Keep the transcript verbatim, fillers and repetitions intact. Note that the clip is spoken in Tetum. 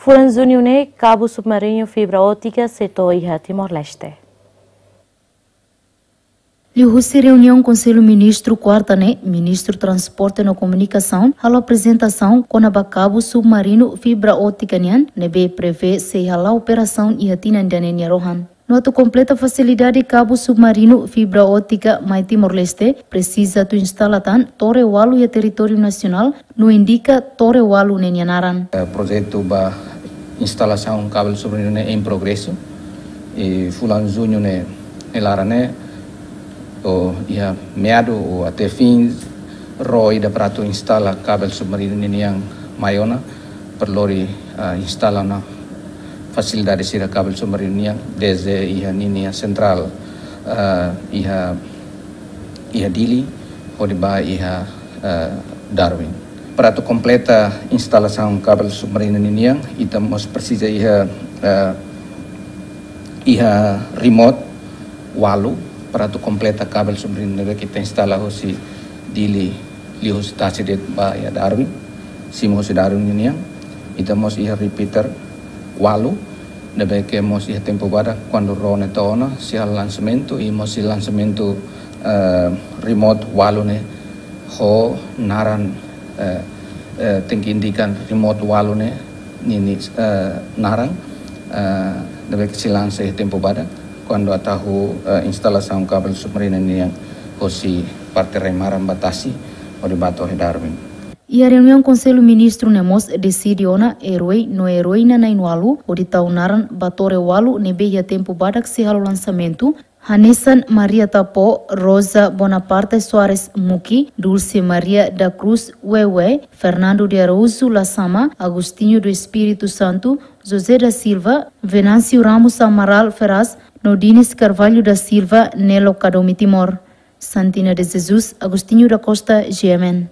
Fulan Juñu ne'e, kabu submarinu fibra ótika sei to'o iha Timor-Leste. Liuhusi reuniaun Konsellu Ministru kuarta ne'e, Ministru Transporte no Komunikasaun halo aprezentasaun kona-ba kabu submarinu fibra ótika nian, ne'ebé prevee sei hala'o operasaun iha tinan ida-ne'e nia rohan. No atu kompleta fasilidade kabu submarinu fibra ótika mai Timor-Leste, presiza atu instala tan tore ualu iha territóriu nasionál, no indika tore ualu ne'e nia naran. Eh, projetu ba instalasaun kabel submarinu ne'e em progresso. I fulan Juñu ne'e, ne'e laran ne'e, ou iha meadu ou até fin, ró ida para atu instala kabel submarinu ninian mai ona, para lori, ah, instala ona fasilidade sira kabel submarinu nian, desde iha ninia sentrál, ah, iha, iha Dili, hodi ba iha, ah, Darwin. Para atu kompleta instalasaun kabel submarinu ninian, ita mós presiza iha, ah, iha remote ualu, para atu kompleta kabel submarinu ne'ebé ke ita instala hosi Dili, liuhusi tasi de'it ba iha Darwin, simu hosi Darwin ninian. Ita mós iha repeater ualu, ne'ebé ke mós iha tempu badak, kuandu ró ne'e to'o ona, sei halo lansamentu, i mós sei lansamentu, eh, remote ualu ne'e ho naran, eh, eh, tenke indika remote ualu ne'e ninia, eh, naran, eh, ne'ebé ke sei lansa iha tempu badak, kuandu atu halo, eh, instalasaun kabel submarinu nian hosi parte rai-maran ba tasi, hodi ba to'o iha Darwin. Iha reuniaun Konsellu Ministru ne'e mós deside ona erói no eróina na'in-ualu, hodi tau naran ba tore ualu ne'ebé iha tempu badak sei halo lansamentu, hanesan Maria Tapó, Rosa Bonaparte Soares Muki, Dulce Maria da Cruz Wewe, Fernando de Araújo Lasama, Agostinho do Espírito Santo, José da Silva, Venâncio Ramos Amaral Ferraz, no Dinis Carvalho da Silva, Nelo Kadomi Timor. Santina de Jesus, Agostinho da Costa, G M N.